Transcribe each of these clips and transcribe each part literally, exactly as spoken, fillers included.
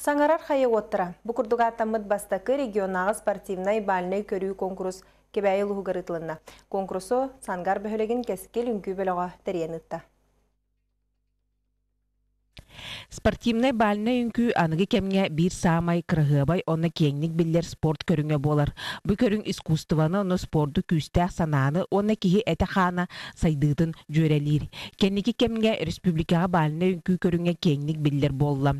Саңарар хайы оттыра. Бұқырдуға аттамыд бастақы регионағы спортивнай балынай көрүү конкурс кебәйі лұғығырытылынна. Конкурсу сангар бөхілеген кәсікел үнкі бөліға тәренітті. Спортивный бальный үнкү анығы кемге бір самай кырыгыбай онна кеңник биллер спорт көріңе болар. Бұ көрің искусстваны оны спорду күстәк сананы онна кихи әті қана сайдыдын жөрелер. Кенники кемге республикаға бальный үнкү көріңе кеңник биллер болла.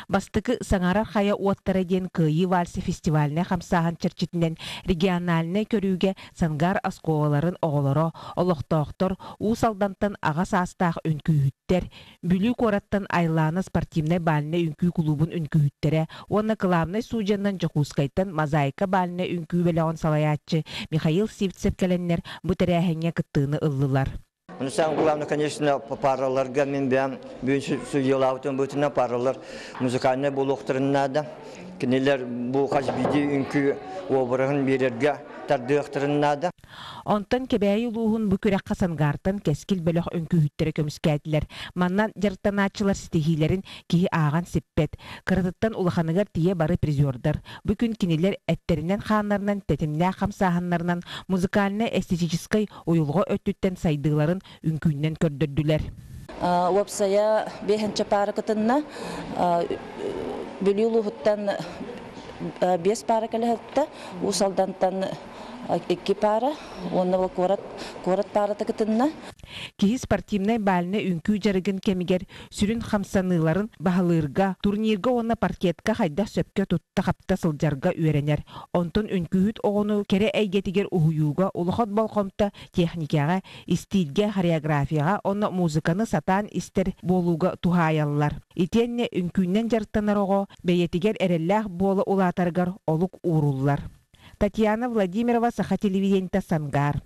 Бастықы Саңарар хая уаттара ден кыйы вальсы фестиваліне қамсаған чырчитінен региональны көрүүге сангар асколарын оғылары, олықтақтыр, усалдантын аға састақ үнкүйіттер, бүлі кораттан айланы спортивный бальный үнкү клубун үнкүйттері, оны кылавный суджаннан жокускайтын мозаика бальный үнкү белеғын салаятчы Михаил Сивцев кәленнер бұтырәхенге кыттыны ыллылар. Самое главное, конечно, параллар гамин бям, бюджет судьялаутон бутина параллар музыкальный булухтырын надо. Кнелер бу хажбиди үнкү обырын берерге тардыктырын надо. Онтан кебәйі луғын бүкірек қасангартын кәскіл бөліқ үнкүхіттері көміскәділер. Маннан жартаначылар стихилерін кейі аған сеппет. Кырытыттан улаханығар тие бары призердар. Бүкін кинелер әттерінен қанларынан, тәтімне қамсағанларынан музыкальны эстетической ойылғы өттіттен сайдыларын үнкүннен көрдірділер. Уапсая бехенче пары кытынна бүлі луғыттан бес пары кәліғітті, усалдантан iki para, onu bu korat korat para takıtınna. Ki sportivnay balne ünkü jarıgın kemiger sürün xamsanıların bahalırga turnirga ona parketka hayda söpke tutta kapta sıljarga öğrener. Onton ünkühüt onu kere eygetiger uhuyuga uluxat balqomta texnikaga, istilge, xoreografiyaga, ona muzikanı satan ister boluga tuhayallar. Itenne ünkünnen jartanar oğo beyetiger erellah bola ulatargar oluk uğrullar. Татьяна Владимирова, Саха телевидениета, Сангар.